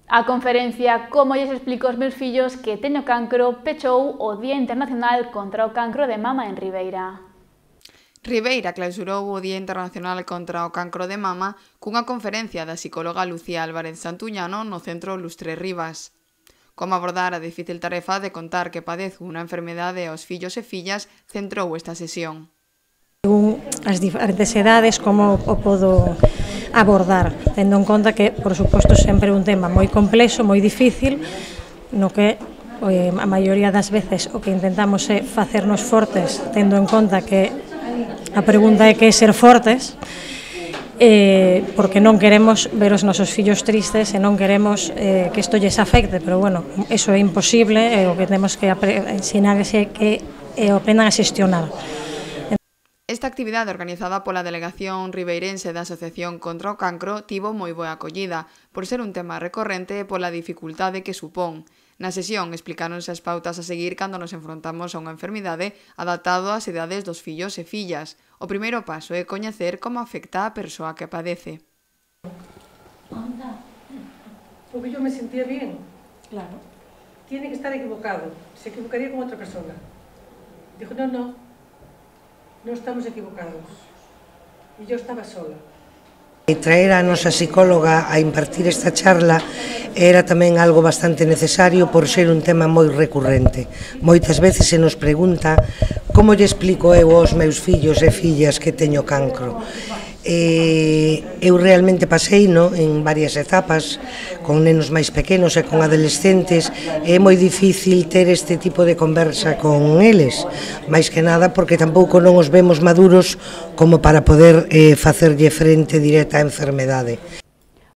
A conferencia Como lles explico aos meus fillos que teño cancro pechou o Día Internacional contra o Cancro de Mama en Ribeira. Ribeira clausurou o Día Internacional contra o Cancro de Mama cunha conferencia da psicóloga Lucía Álvarez Santuñano no Centro Lustre Rivas. Como abordar a difícil tarefa de contar que padezo unha enfermedade aos fillos e fillas centrou esta sesión. As diferentes edades, como o podo abordar, tendo en conta que, por suposto, sempre é un tema moi complexo, moi difícil, no que a maioría das veces o que intentamos é facernos fortes, tendo en conta que a pregunta é que é ser fortes, porque non queremos ver os nosos fillos tristes e non queremos que isto lles afecte, pero bueno, eso é imposible e o que temos que ensinar é que o aprendan a xestionar. Esta actividade organizada pola Delegación Ribeirense da Asociación contra o Cancro tivo moi boa acollida, por ser un tema recorrente e pola dificultade que supón. Na sesión explicáronse as pautas a seguir cando nos enfrontamos a unha enfermidade adaptado ás idades dos fillos e fillas. O primeiro paso é coñecer como afecta a persoa que padece. Porque yo me sentía bien. Claro. Tiene que estar equivocado. Se equivocaría con otra persona. Dijo, no estamos equivocados. E yo estaba sola. Traer a nosa psicóloga a impartir esta charla era tamén algo bastante necesario por ser un tema moi recurrente. Moitas veces se nos pregunta como lle explico eu aos meus fillos e fillas que teño cancro. Eu realmente paseino en varias etapas con nenos máis pequenos e con adolescentes. É moi difícil ter este tipo de conversa con eles, máis que nada porque tampouco non os vemos maduros como para poder facerlle frente directa á enfermedade.